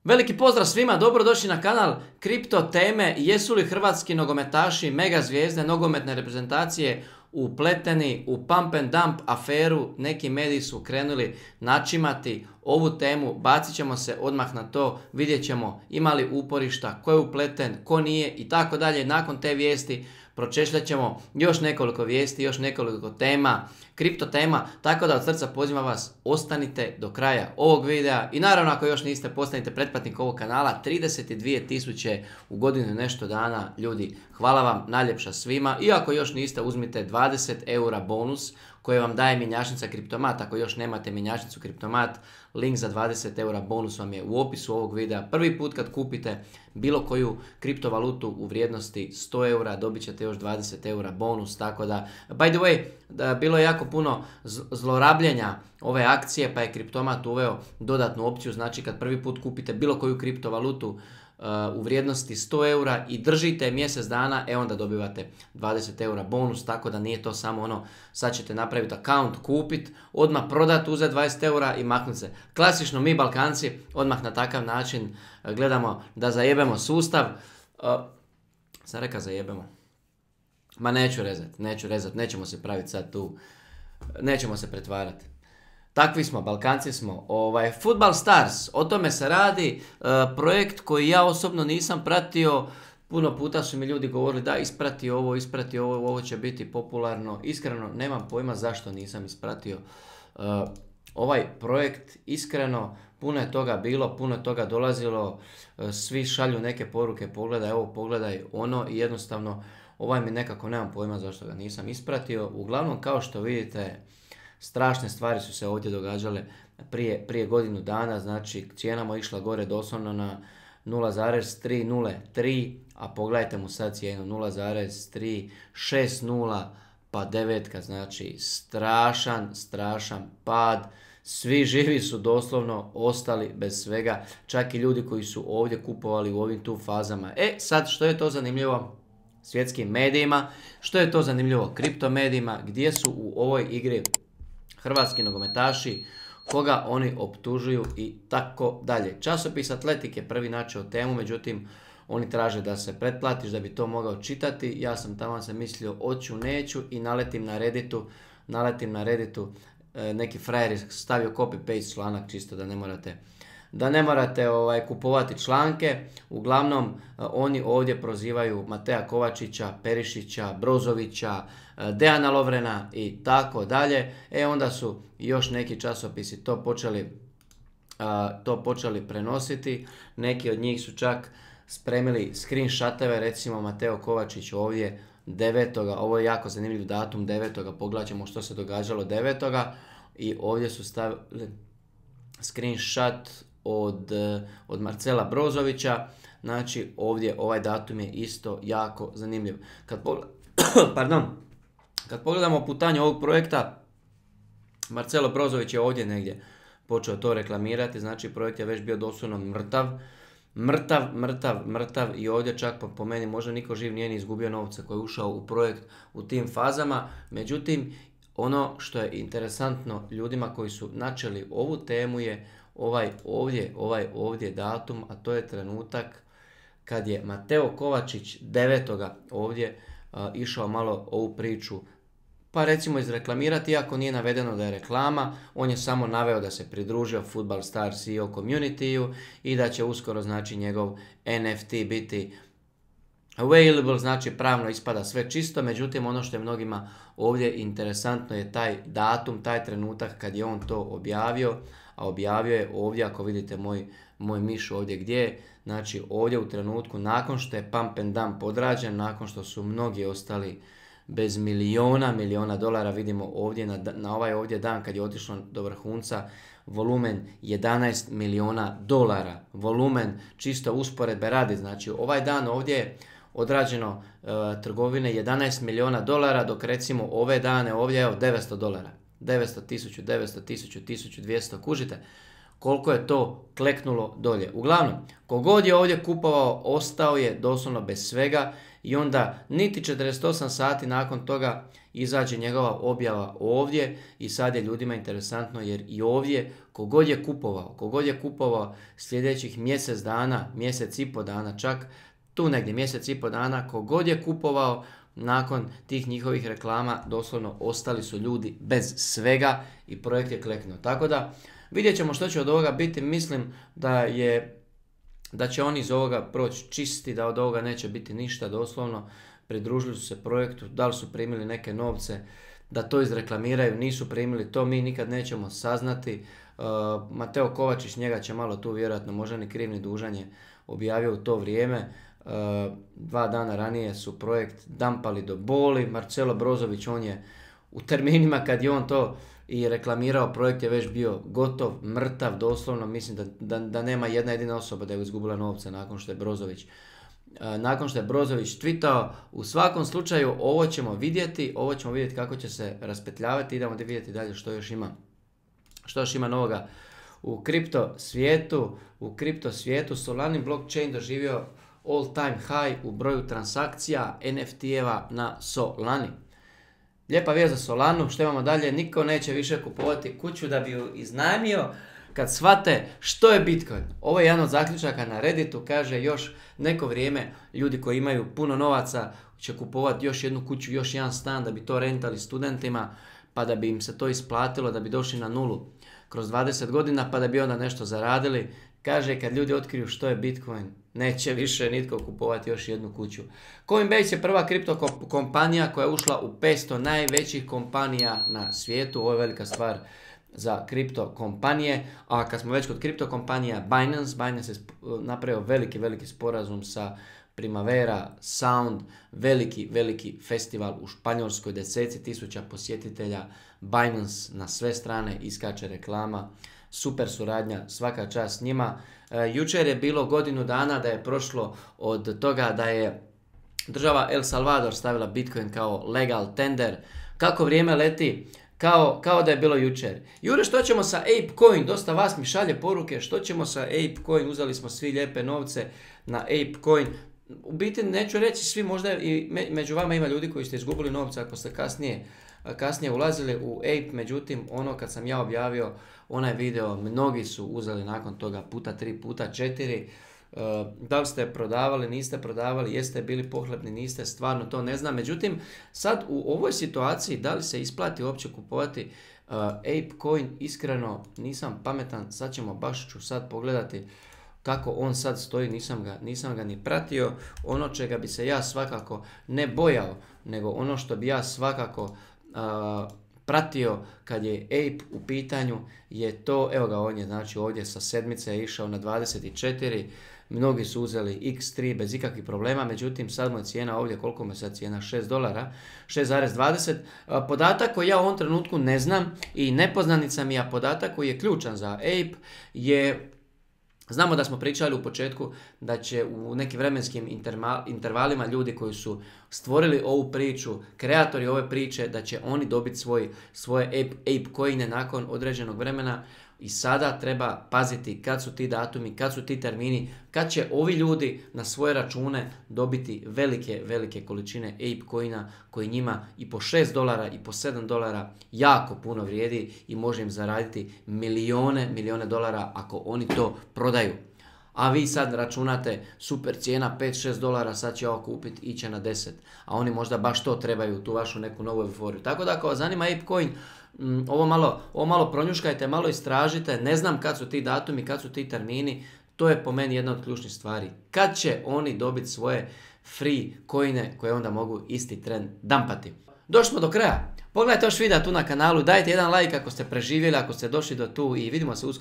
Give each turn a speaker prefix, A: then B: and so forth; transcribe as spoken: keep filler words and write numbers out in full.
A: Veliki pozdrav svima, dobrodošli na kanal Kripto teme. Jesu li hrvatski nogometaši, mega zvijezde nogometne reprezentacije upleteni u pump and dump aferu? Neki mediji su krenuli načimati ovu temu, bacit ćemo se odmah na to, vidjet ćemo ima li uporišta, ko je upleten, ko nije i tako dalje. Nakon te vijesti pročešljat ćemo još nekoliko vijesti, još nekoliko tema, kripto tema, tako da od srca pozivam vas, ostanite do kraja ovog videa i naravno ako još niste, postanite pretplatnik ovog kanala. trideset dvije tisuće u godinu i nešto dana, ljudi, hvala vam najljepša svima i ako još niste, uzmite dvadeset eura bonus koje vam daje mjenjačnica Kriptomat. Ako još nemate mjenjačnicu Kriptomat, link za dvadeset eura bonus vam je u opisu ovog videa. Prvi put kad kupite bilo koju kriptovalutu u vrijednosti sto eura, dobit ćete još dvadeset eura bonus, tako da, by the way, da, bilo je jako puno zlorabljenja ove akcije, pa je Kriptomat uveo dodatnu opciju, znači kad prvi put kupite bilo koju kriptovalutu u vrijednosti sto eura i držite mjesec dana, e onda dobivate dvadeset eura bonus, tako da nije to samo ono, sad ćete napraviti account, kupit, odmah prodat, uzeti dvadeset eura i maknuti se. Klasično mi Balkanci odmah na takav način gledamo da zajebemo sustav. Uh, sam rekao zajebemo. Ma neću rezat, neću rezat, nećemo se praviti sad tu, nećemo se pretvarati. Takvi smo, Balkanci smo. Ovaj, Football Stars, o tome se radi, e, projekt koji ja osobno nisam pratio, puno puta su mi ljudi govorili da isprati ovo, isprati ovo, ovo će biti popularno. Iskreno, nemam pojma zašto nisam ispratio e, ovaj projekt, iskreno, puno je toga bilo, puno je toga dolazilo, e, svi šalju neke poruke, pogledaj ovo, pogledaj ono i jednostavno ovaj mi nekako nemam pojma zašto ga nisam ispratio. Uglavnom, kao što vidite, strašne stvari su se ovdje događale prije, prije godinu dana, znači cijena mu je išla gore doslovno na nula zarez tri nula tri, a pogledajte mu sad cijenu nula zarez tri šest nula, pa devetka, znači strašan, strašan pad. Svi živi su doslovno ostali bez svega, čak i ljudi koji su ovdje kupovali u ovim tu fazama. E sad, što je to zanimljivo svjetskim medijima, što je to zanimljivo kripto medijima, gdje su u ovoj igri hrvatski nogometaši, koga oni optužuju i tako dalje. Časopis Atletike prvi načeo temu, međutim oni traže da se pretplatiš da bi to mogao čitati. Ja sam tamo se mislio oću neću i naletim na Redditu, naletim na Redditu, e, neki frajer je stavio copy paste članak čisto da ne morate da ne morate ovaj, kupovati članke. Uglavnom, oni ovdje prozivaju Mateja Kovačića, Perišića, Brozovića, Dejana Lovrena i tako dalje. E onda su još neki časopisi to počeli, a, to počeli prenositi. Neki od njih su čak spremili screenshotove, recimo Mateo Kovačić ovdje devetoga Ovo je jako zanimljiv datum, devetoga Pogledajmo što se događalo devetoga I ovdje su stavili screenshot od, od Marcela Brozovića. Znači ovdje ovaj datum je isto jako zanimljiv. Kad, pogled... Pardon. Kad pogledamo putanje ovog projekta, Marcelo Brozović je ovdje negdje počeo to reklamirati, znači projekt je već bio doslovno mrtav. Mrtav, mrtav, mrtav i ovdje čak po, po meni možda niko živ nije ni izgubio novce koji je ušao u projekt u tim fazama. Međutim, ono što je interesantno ljudima koji su načeli ovu temu je ovaj ovdje, ovaj ovdje datum, a to je trenutak kad je Mateo Kovačić devetoga ovdje uh, išao malo ovu priču, pa recimo izreklamirati, iako nije navedeno da je reklama, on je samo naveo da se pridružio Football Stars C E O community-u i da će uskoro, znači, njegov N F T biti available, znači pravno ispada sve čisto. Međutim, ono što je mnogima ovdje interesantno je taj datum, taj trenutak kad je on to objavio, a objavio je ovdje, ako vidite moj, moj miš ovdje gdje je, znači ovdje u trenutku nakon što je pump and dump odrađen, nakon što su mnogi ostali bez miliona, miliona dolara. Vidimo ovdje na, na ovaj ovdje dan kad je otišlo do vrhunca, volumen jedanaest miliona dolara, volumen čisto usporedbe radi, znači ovaj dan ovdje je odrađeno e, trgovine jedanaest miliona dolara, dok recimo ove dane ovdje je devetsto dolara, devetsto, tisuću, devetsto, tisuću, tisuću dvjesto, kužite koliko je to kleknulo dolje. Uglavnom, kogod je ovdje kupovao, ostao je doslovno bez svega i onda niti četrdeset osam sati nakon toga izađe njegova objava ovdje i sad je ljudima interesantno jer i ovdje kogod je kupovao, kogod je kupovao sljedećih mjesec dana, mjesec i po dana čak, tu negdje mjesec i po dana, kogod je kupovao nakon tih njihovih reklama, doslovno ostali su ljudi bez svega i projekt je kleknuo. Tako da vidjet ćemo što će od ovoga biti, mislim da je da će oni iz ovoga proći čisti, da od ovoga neće biti ništa doslovno. Pridružili su se projektu, da li su primili neke novce, da to izreklamiraju, nisu primili, to mi nikad nećemo saznati. Uh, Mateo Kovačić, njega će malo tu vjerojatno, možda ni kriv ni dužan je objavio u to vrijeme. Uh, dva dana ranije su projekt dampali do boli. Marcelo Brozović, on je u terminima kad je on to i reklamirao, projekt je već bio gotov, mrtav, doslovno, mislim da, da, da nema jedna jedina osoba da je izgubila novce nakon što je Brozović nakon što je Brozović tweetao. U svakom slučaju ovo ćemo vidjeti, ovo ćemo vidjeti kako će se raspetljavati, idemo da vidjeti dalje što još ima, što još ima novoga u kripto svijetu. U kripto svijetu Solana blockchain doživio all time high u broju transakcija N F T-eva na Solani. Lijepa vijest za Solanu, što imamo dalje, niko neće više kupovati kuću da bi ju iznajmio kad shvate što je Bitcoin. Ovo je jedan od zaključaka na Redditu, kaže još neko vrijeme ljudi koji imaju puno novaca će kupovati još jednu kuću, još jedan stan da bi to rentali studentima, pa da bi im se to isplatilo, da bi došli na nulu kroz dvadeset godina, pa da bi onda nešto zaradili. Kaže, kad ljudi otkriju što je Bitcoin, neće više nitko kupovati još jednu kuću. Coinbase je prva kripto kompanija koja je ušla u petsto najvećih kompanija na svijetu. Ovo je velika stvar za kripto kompanije. A kad smo već kod kripto kompanija, Binance, Binance je napravio veliki, veliki sporazum sa Primavera Sound, veliki, veliki festival u Španjolskoj, deseci tisuća posjetitelja, Binance na sve strane, iskače reklama, super suradnja, svaka čast njima. E, jučer je bilo godinu dana da je prošlo od toga da je država El Salvador stavila Bitcoin kao legal tender. Kako vrijeme leti, kao, kao da je bilo jučer. Jure, što ćemo sa ApeCoin? Dosta vas mi šalje poruke, što ćemo sa ApeCoin? Uzeli smo svi lijepe novce na ApeCoin. U biti neću reći svi, možda i među vama ima ljudi koji ste izgubili novce ako ste kasnije, kasnije ulazili u Ape, međutim ono kad sam ja objavio onaj video, mnogi su uzeli nakon toga puta tri, puta četiri. Uh, da li ste prodavali, niste prodavali, jeste bili pohlepni, niste, stvarno to ne znam. Međutim, sad u ovoj situaciji da li se isplati uopće kupovati uh, ApeCoin, iskreno nisam pametan, sad ćemo baš ću sad pogledati kako on sad stoji, nisam ga, nisam ga ni pratio. Ono čega bi se ja svakako ne bojao, nego ono što bi ja svakako uh, pratio kad je Ape u pitanju je to, evo ga on je znači ovdje sa sedmice je išao na dvadeset četiri, mnogi su uzeli iks tri bez ikakvih problema, međutim sad mu je cijena ovdje, koliko mu je sad cijena, šest dolara, šest zarez dvadeset. Podatak koji ja u ovom trenutku ne znam i nepoznanica mi je, podatak koji je ključan za Ape je, znamo da smo pričali u početku da će u nekim vremenskim intervalima ljudi koji su stvorili ovu priču, kreatori ove priče, da će oni dobiti svoj, svoje Ape, ApeCoine nakon određenog vremena. I sada treba paziti kad su ti datumi, kad su ti termini, kad će ovi ljudi na svoje račune dobiti velike, velike količine ApeCoina koji njima i po šest dolara i po sedam dolara jako puno vrijedi i može im zaraditi milijone, milijone dolara ako oni to prodaju. A vi sad računate super cijena pet šest dolara, sad će ovo kupiti, iće na deset. A oni možda baš to trebaju, tu vašu neku novu euforiju. Tako da ako vas zanima ApeCoin, mm, ovo, malo, ovo malo pronjuškajte, malo istražite. Ne znam kad su ti datumi, kad su ti termini. To je po meni jedna od ključnih stvari. Kad će oni dobiti svoje free coine koje onda mogu isti tren dampati. Došli smo do kraja. Pogledajte još videa tu na kanalu, dajte jedan like ako ste preživjeli, ako ste došli do tu i vidimo se uskoro.